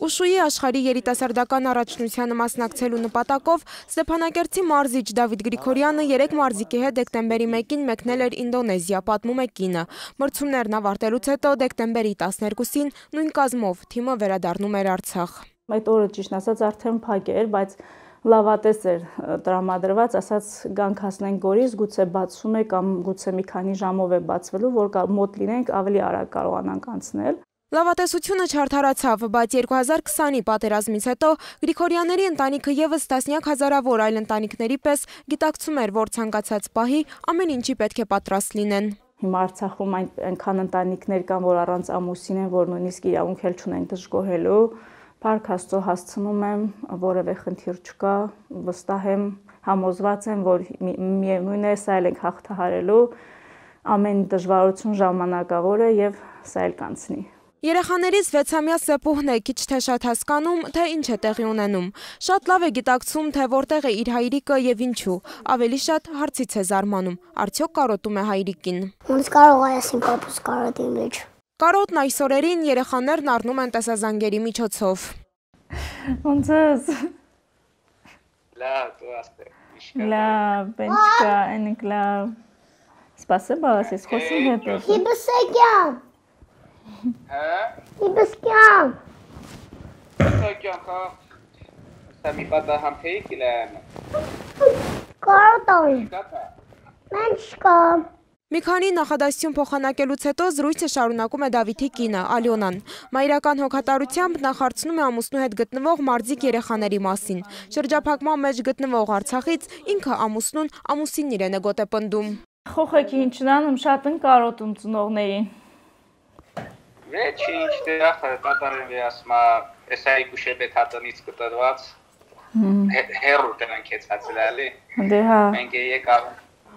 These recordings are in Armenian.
Ուշուի աշխարհի երիտասարդական առաջնությանը մասնակցելու նպատակով Ստեփանակերտի մարզիչ Դավիթ Գրիգորյանը 3 մարզիկի հետ դեկտեմբերի 1-ին մեկնել էր Ինդոնեզիա, պատմում է կինը։ Մրցումներն ավարտելուց հետո դեկտեմբերի 12-ին նույն կազմով թիմը վերադառնում էր Արցախ։ Այդ օրը ճիշտ ասած արդեն փակ էր, բայց լավատես էր տրամադրված, ասած գանք հասնենք Գորիս, գուցե բացում է կամ գուցե մի քանի ժամով է բացվելու, որ մոտ լինենք ավելի արագ կարողանանք անցնել։ Լավատեսությունը չարդարացավ, բայց 2020-ի պատերազմից հետո Գրիգորյանների ընտանիքը եւս տասնյակ հազարավոր այլ ընտանիքների պես գիտակցում էր, որ ցանկացած պահի ամեն ինչի պետք է պատրաստ լինեն։ Հիմա Արցախում այնքան ընտանիքներ կան, որ առանց ամուսին են, որ նույնիսկ իրավունք էլ չունեն դժգոհելու։ Փառք Աստծո, հասցնում եմ, որևէ խնդիր չկա, վստահ եմ, համոզված եմ, որ միևնույն է, սա էլ ենք հաղթահարելու, ամեն դժվարություն ժամանակավոր է եւ սա էլ կանցնի։ Երեխաներից 6-ամյա Սեպուհն է քիչ թե շատ հասկանում, թե ինչ է տեղի ունենում։ Շատ լավ է գիտակցում, թե որտեղ է իր հայրիկը եւ ինչու։ Ավելի շատ հարցից է զարմանում։ Արդյոք կարոտում է հայրիկին։ Ոնց կարող է ասին պապուս կարոտի մեջ։ Կարոտն այս օրերին երեխաներն առնում են տեսազանգերի միջոցով։ Ոնց ես։ Լավ, դու ասե։ Լավ, բենչկա, այնք լավ։ Спасибо, ես խոսում հետ։ Հիբսեգյան։ Իբսկյան։ Իբսկյան, հա։ Սամի պատա համփեի կիլեմ։ Կարոտոյ։ Մենչկա։ Մի քանի նախադասություն փոխանակելուց հետո զրույցը շարունակում է Դավիթի կինը, Ալյոնան։ Մայրական հոգատարությամբ նախարցնում է ամուսնու հետ գտնվող մարզիկ երեխաների մասին։ Շրջափակման մեջ գտնվող Արցախից ինքը ամուսնուն ամուսինն իրեն է գոտեպնդում։ Խոխեքի ինչն անում, շատ են կարոտում ծնողներին։ Ինչ դերախ կատարեն ասма էսայի գուշեբետ հատնից կտրված հերու դրանք հեծածել էլի։ Դե հա։ Մենք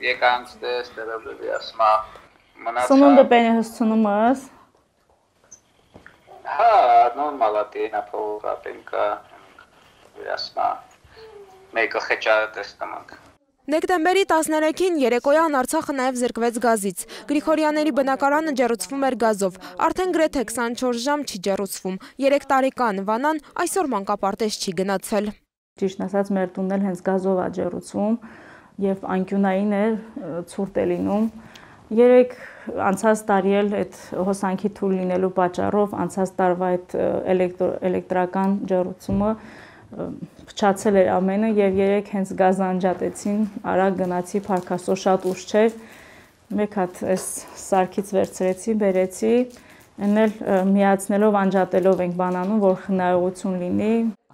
եկանք ստերաբլի ասма մնաց։ Սնունդը բենի հսցնում ես։ Հա, նորմալ է դենա փողապենկա ասма մեկը խեճարը տեսնանք։ Դեկտեմբերի 13-ին երեկոյան Արցախը նաև զրկվեց գազից։ Գրիգորյանների բնակարանը ջեռուցվում էր գազով։ Արդեն գրեթե 24 ժամ չի ջեռուցվում։ 3 տարեկան Վանան այսօր մանկապարտեզ չի գնացել։ Ճիշտ ասած, մեր տունն էլ հենց գազով է ջեռուցվում եւ անկյունային է, ցուրտ է լինում։ 3 անցած տարի էլ այդ հոսանքի թույլ լինելու պատճառով անցած տարվա այդ էլեկտրական ջեռուցումը փչացել էր ամենը եւ 3 հենց գազ անջատեցին, արագ գնացի, Փառք Աստծո, շատ ուշ չէր։ Մեկ հատ այս սարքից վերցրեցի, բերեցի, էնել միացնելով անջատելով ենք բանանում, որ խնայողություն լինի։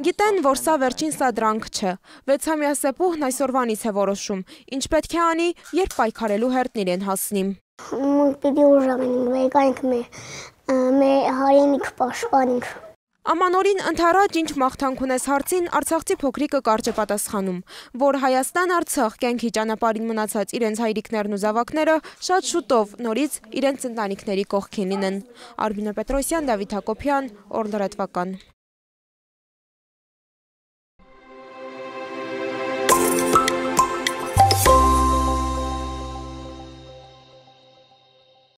Գիտեն, որ սա վերջին սադրանք չէ։ 6-ամյա Սեպուհն այսօրվանից է որոշում, ինչ պետք է անի, երբ պայքարելու հերթն իրեն հասնի։ Պիտի ուժեղանանք, վեկանք մեր հայրենիք պաշտպանենք։ Ամանորին ընդառաջ ինչ մաղթանք ունես հարցին արցախցի փոքրիկը կարճ է պատասխանում, որ Հայաստան-Արցախ կյանքի ճանապարհին մնացած իրենց հայրիկներն ու զավակները շատ շուտով նորից իրենց ընտանիքների կողքին լինեն։ Արմինե Պետրոսյան, Դավիթ Հակոբյան, Օր լրատվական։